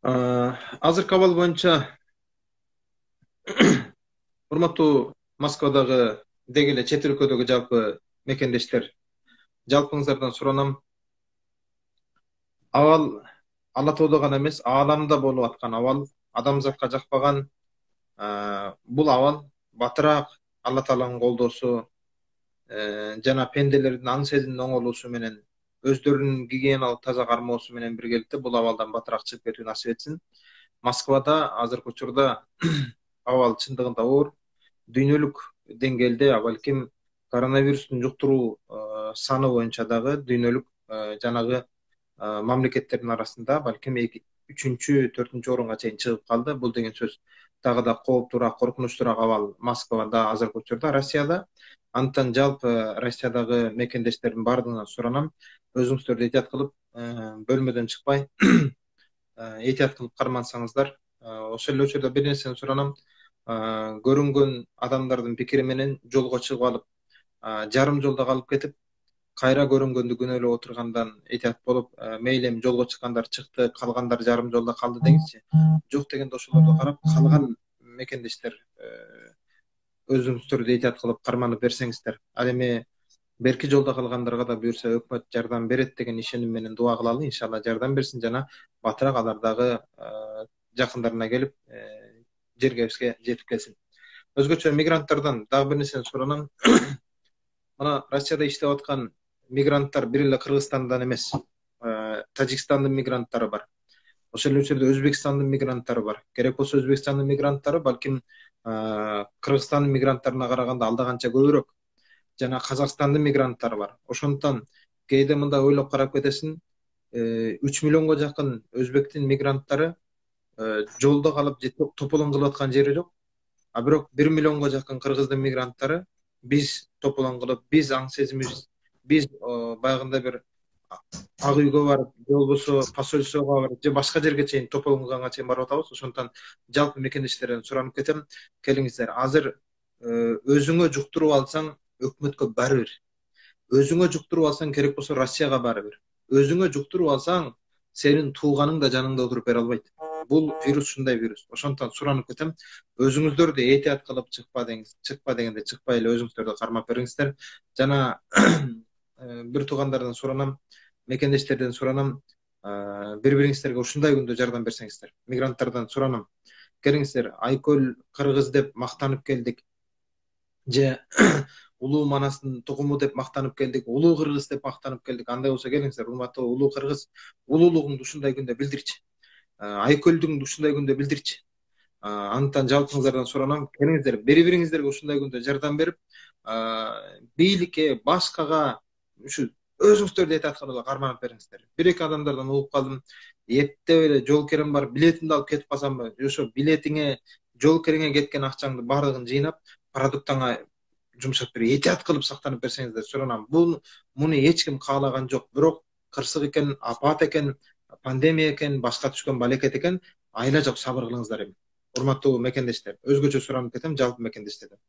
Азыркы абал боюнча урматтуу Москвадагы деги эле чет өлкөдөгү жалпы мекендештер, жалпыңыздардан суранам. Абал Ала Тоодо гана эмес, ааламда болуп аткан абал, адамзатка жакпаган бул абал батыраак Алла Тааланын колдоосу жана пенделердин аң сезимдин оңолуусу менен өздөрүнүн гигиеналык таза кармоосу менен биргеликте бул абалдан батыраак чыгып кетүү насип этсин. Москвада азыркы учурда абал чындыгында оор. Дүйнөлүк деңгээлде балким коронавирустун жуктуруу саны боюнча дагы дүйнөлүк жанагы мамлекеттердин арасында балким үчүнчү, төртүнчү орунга чейин чыгып калды. Бул деген сөз дагы да кооптуураак, коркунучтуураак абал Москвада азыркы учурда, Россияда. Андыктан жалпы Россиядагы мекендештердин баардыгынан суранам, өзүңүздөрдү этият кылып, бөлмөдөн чыкпай этият кылып кармансаңыздар. Ошол эле учурда бир нерсени суранам. Көрүнгөн адамдардын пикири менен жолго чыгып алып, жарым жолдо калып кетип, кайра көрүнгөндү күнөөлөп отургандан этият болуп, мейли эми жолго чыккандар чыкты, калгандар жарым жолдо калды деңизчи. Жок дегенде ошолорду карап, калган мекендештер өзүңүздөрдү этият кылып карманып берсеңиздер. Ал эми берки жолдо калгандарга да буюрса өкмөт жардам берет деген ишеним менен дуа кылалы. Иншалла жардам берсин жана батыраак алар дагы жакындарына келип, жергебизге жетип келсин. Өзгөчө мигранттардан дагы бир нерсени суранам. Мына Россияда иштеп аткан мигранттар бир эле Кыргызстандан эмес, Тажикстандын мигранттары бар. Ошол эле учурда Өзбекстандын мигранттары бар. Керек болсо Өзбекстандын мигранттары балким Кыргызстандын мигранттарына караганда алда канча көбүрөөк. Жана Казакстандын мигранттары бар. Ошондуктан кээде мындай ойлоп карап кетесиң, 3 миллионго жакын өзбектин мигранттары жолдо калып же тополоң кылып аткан жери жок. А бирок 1 миллионго жакын кыргыздын мигранттары биз тополоң кылып, биз аң сезимибиз, биз баягындай бир ак үйгө барып, же болбосо посольствого барып, же башка жерге чейин тополоң кылганга чейин барып атабыз. Ошондуктан жалпы мекендештерден суранып кетем, келиңиздер. Азыр өзүңө жуктуруп алсаң, өкмөткө баары бир. Өзүңө жуктуруп алсаң, керек болсо Россияга баары бир. Өзүңө жуктуруп алсаң, сенин тууганың да жаныңда отуруп бере албайт. Бул вирус ушундай вирус. Ошондуктан суранып кетем, өзүңүздөрдү этият кылып чыкпа дегенде чыкпай эле өзүңүздөрдү кармап бериңиздер. Жана бир туугандардан суранам, мекендештерден суранам, бири-бириңиздерге ушундай күндө жардам берсеңиздер. Мигранттардан суранам, келиңиздер, Айкөл кыргыз деп мактанып келдик, же улуу Манастын тукуму деп мактанып келдик, улуу кыргыз деп мактанып келдик. Андай болсо келиңиздер, урматтуу улуу кыргыз, улуулугуңду ушундай күндө билдирчи. Айкөлдүңдү ушундай күндө билдирчи. Андыктан жалпыңыздардан суранам, келиңиздер, бири-бириңиздерге ушундай күндө жардам берип, бийликке, башкага ушу өзүңүздөрдү этият кылып эле карманып бериңиздер. Бир-эки адамдардан угуп калдым, эптеп эле жол керем бар, билетимди алып кетип калсамбы, ошо билетиңе, жол кереңе кеткен акчаңды баардыгын жыйнап, продуктаңа жумшап берип, этият кылып сактанып берсеңиздер суранам. Муну эч ким каалаган жок, бирок кырсык экен, апат экен, пандемия экен, башка түшкөн балекет экен, айла жок, сабыр кылыңыздар эми. Урматтуу мекендештер, өзгөчө суранып кетем жалпы мекендештерден.